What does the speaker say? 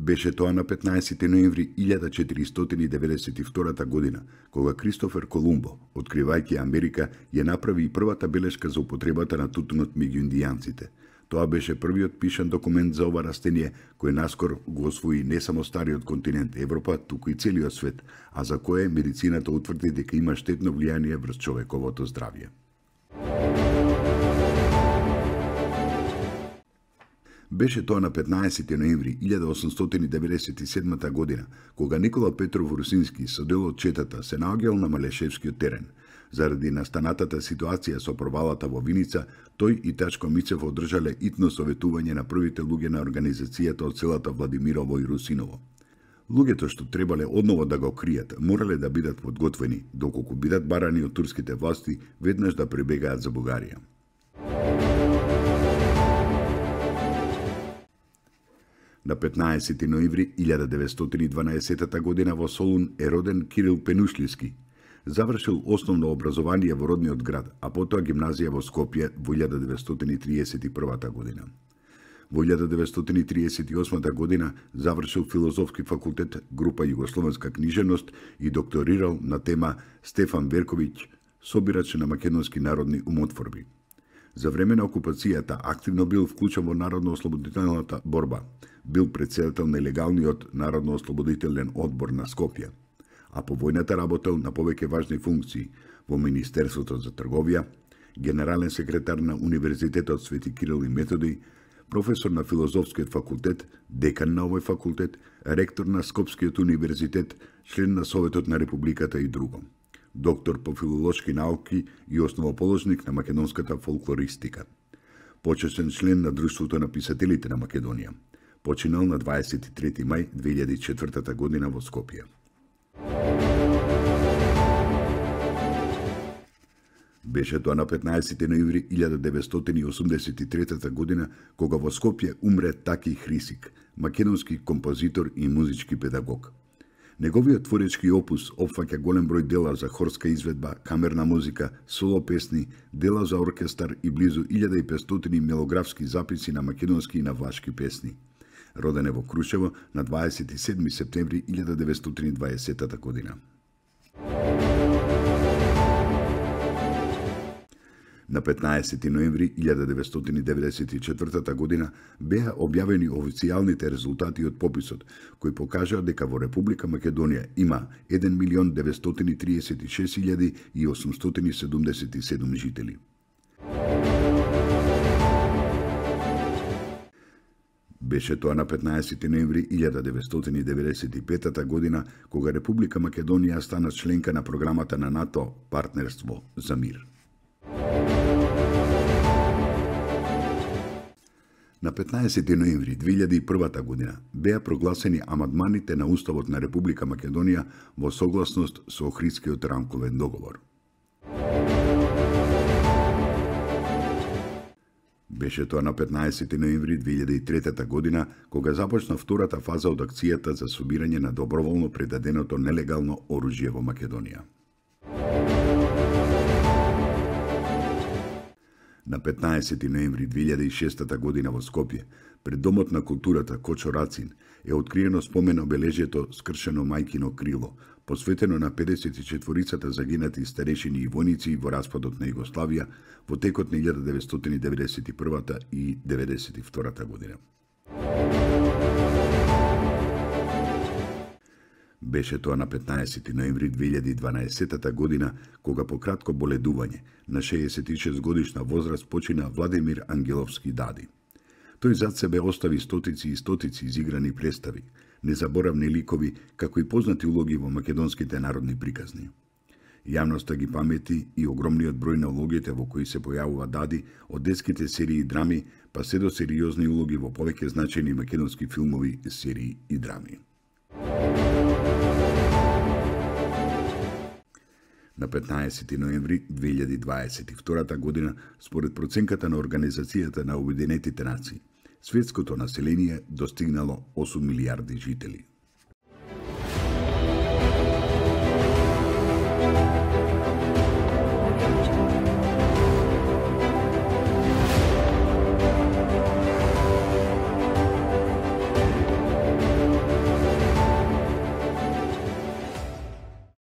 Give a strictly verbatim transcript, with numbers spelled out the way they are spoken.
Беше тоа на петнаесети ноември илјада четиристотини и деветдесет и втора година, кога Кристофер Колумбо, откривајќи Америка, ја направи и првата белешка за употребата на тутунот меѓу индијанците. Тоа беше првиот пишан документ за ова растение, кој наскор го освои не само стариот континент Европа, туку и целиот свет, а за кое медицината утврди дека има штетно влијание врз човековото здравје. Беше тоа на петнаесети ноември илјада осумстотини деветдесет и седма година, кога Никола Петров Русински со делот Четата се наоѓал на Малешевскиот терен. Заради настанатата ситуација со провалата во Виница, тој и Тачко Мицев одржале итно советување на првите луѓе на организацијата од селата Владимирово и Русиново. Луѓето што требале одново да го кријат, морале да бидат подготвени, доколку бидат барани од турските власти, веднаш да пребегаат за Бугарија. На петнаесети ноември илјада деветстотини и дванаесета година во Солун е роден Кирил Пенушлиски. Завршил основно образование во родниот град, а потоа гимназија во Скопје во илјада деветстотини и триесет и прва година. Во илјада деветстотини триесет и осма година завршил филозофски факултет, група Југословенска книжевност и докторирал на тема Стефан Верковиќ, собирач на македонски народни умотворби. За време на окупацијата активно бил вклучен во народно-ослободителната борба. Бил претседател на легалниот Народно-ослободителен одбор на Скопје, а по војната работел на повеќе важни функции во Министерството за трговија, генерален секретар на Универзитетот Свети Кирил и Методи, професор на Филозофскиот факултет, декан на овој факултет, ректор на Скопскиот универзитет, член на Советот на Републиката и друго. Доктор по филолошки науки и основоположник на македонската фолклористика. Почесен член на Друштвото на писателите на Македонија. Починал на дваесет и трети мај две илјади и четврта година во Скопје. Беше тоа на петнаесети ноември илјада деветстотини и осумдесет и трета година, кога во Скопје умре Таки Хрисик, македонски композитор и музички педагог. Неговиот творечки опус опфаќа голем број дела за хорска изведба, камерна музика, соло песни, дела за оркестар и близу илјада и петстотини мелографски записи на македонски и на влашки песни. Роден е во Крушево на дваесет и седми септември илјада деветстотини и дваесета година. На петнаесети ноември илјада деветстотини и деветдесет и четврта година беа објавени официјалните резултати од пописот, кои покажаа дека во Република Македонија има еден милион деветстотини триесет и шест илјади и осумстотини седумдесет и седум жители. Беше тоа на петнаесети ноември илјада деветстотини и деветдесет и пета година, кога Република Македонија стана членка на програмата на НАТО Партнерство за мир. На петнаесети ноември две илјади и прва година беа прогласени амандманите на Уставот на Република Македонија во согласност со Охридскиот рамковен договор. Беше тоа на петнаесети ноември две илјади и трета година, кога започна втората фаза од акцијата за собирање на доброволно предаденото нелегално оружје во Македонија. На петнаесети ноември две илјади и шеста година во Скопје, пред Домот на културата Кочо Рацин, е откриено спомен обележјето скршено мајкино крило, посветено на педесет и четворицата загинати старешини и војници во распадот на Југославија во текот на илјада деветстотини деветдесет и прва и деветдесет и втора година. Беше тоа на петнаесети ноември две илјади и дванаесета година, кога по кратко боледување на шеесет и шест годишна возраст почина Владимир Ангеловски Дади. Тој зад себе остави стотици и стотици изиграни представи, незаборавни ликови, како и познати улоги во македонските народни приказни. Јавноста ги памети и огромниот број на улогите во кои се појавува Дади, од детските серии и драми, па се до сериозни улоги во повеќе значајни македонски филмови, серии и драми. На петнаесети ноември две илјади дваесет и втора година, според проценката на Организацијата на Обединетите нации, светското население достигнало осум милијарди жители.